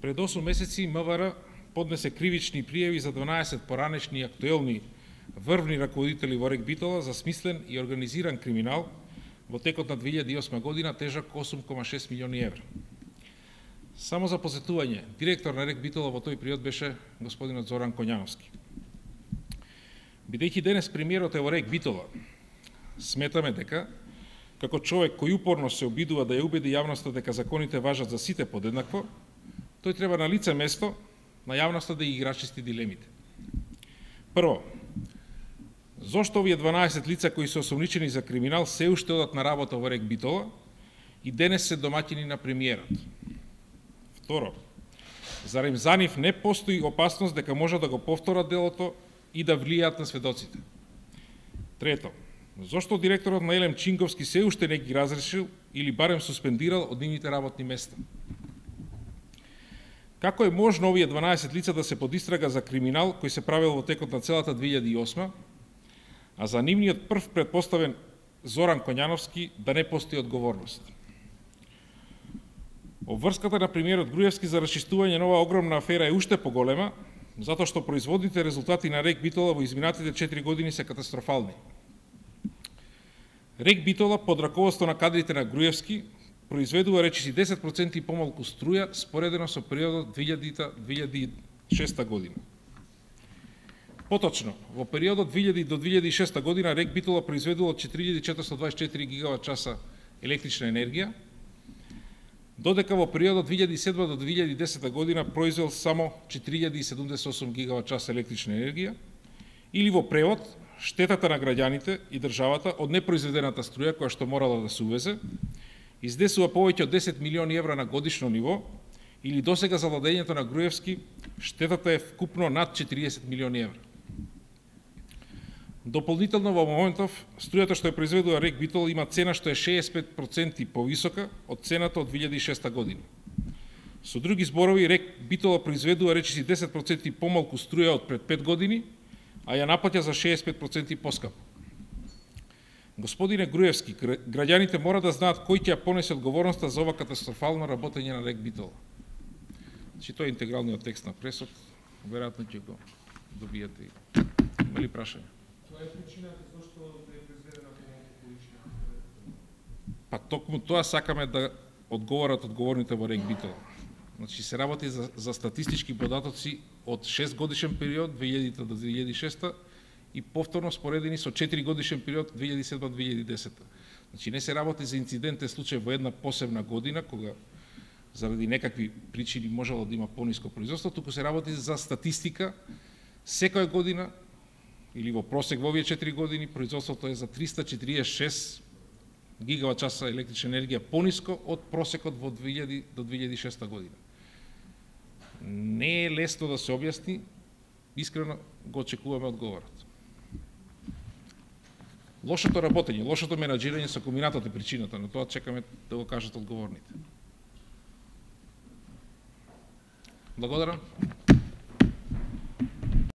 Пред 8 месеци МВР поднесе кривични пријави за 12 поранешни и актуелни врвни раководители во РЕК Битола за смислен и организиран криминал во текот на 2008 година тежок 8,6 милиони евра. Само за посетување, директор на РЕК Битола во тој период беше господинот Зоран Коњановски. Бидејќи денес премиерот е во РЕК Битола, сметаме дека, како човек кој упорно се обидува да ја убеди јавноста дека законите важат за сите подеднакво, тој треба на лице место на јавноста да ги рачисти дилемите. Прво, зошто овие 12 лица кои се осомничени за криминал се уште одат на работа во РЕК Битола и денес се домаќини на премиерот? Второ, зарем за нив не постои опасност дека може да го повторат делото и да влијаат на сведоците? Трето, зошто директорот на ЕЛЕМ Чинговски се уште не ги разрешил или барем суспендирал од нивните работни места? Како е можно овие 12 лица да се под истрага за криминал кој се правил во текот на целата 2008, а за нивниот прв предпоставен Зоран Коњановски да не постои одговорност? Обврската на премиерот Груевски за расчистување на оваа огромна афера е уште поголема, затоа што производните резултати на РЕК Битола во изминатите 4 години се катастрофални. РЕК Битола под раководство на кадрите на Груевски произведува речиси 10% помалку струја споредено со периодот 2000-2006 година. Поточно, во периодот 2000 до 2006 година РЕК Битола произведува 4424 гигават часа електрична енергија, додека во периодот 2007 до 2010 година произвел само 4078 гигават часа електрична енергија, или во превод, штетата на граѓаните и државата од непроизведената струја која што морала да се увезе, издесува повеќе од 10 милиони евра на годишно ниво, или досега за владењето на Груевски штетата е вкупно над 40 милиони евра. Дополнително во моментов, струјата што ја произведува РЕК Битола има цена што е 65% повисока од цената од 2006 година. Со други зборови, РЕК Битола произведува речиси 10% помалку струја од пред 5 години, а ја наплаќа за 65% поскапо. Господине Груевски, граѓаните мора да знаат кој ќе ја понесе одговорноста за ова катастрофално работење на РЕК Битола. Значи, тоа е интегралниот текст на пресод, веројатно ќе го добиете. Има ли прашање? Тоа е причината зашто е произведена помалку количина? Па токму тоа сакаме да одговорат одговорните во РЕК Битола. Значи, се работи за статистички податоци од 6 годишен период, 2000 до 2006 и повторно споредени со 4 годишен период 2007-2010. Значи, не се работи за инцидентен случај во една посебна година, кога заради некакви причини можело да има пониско производство, туку се работи за статистика секоја година или во просек во овие 4 години производството е за 346 гигават часа електрична енергија пониско од просекот во 2000 до 2006 година. Не е лесно да се објасни, искрено го очекуваме одговорот. Лошото работење, лошото менаџирање со комбинатот е причината, но тоа чекаме да го кажат одговорните. Благодарам.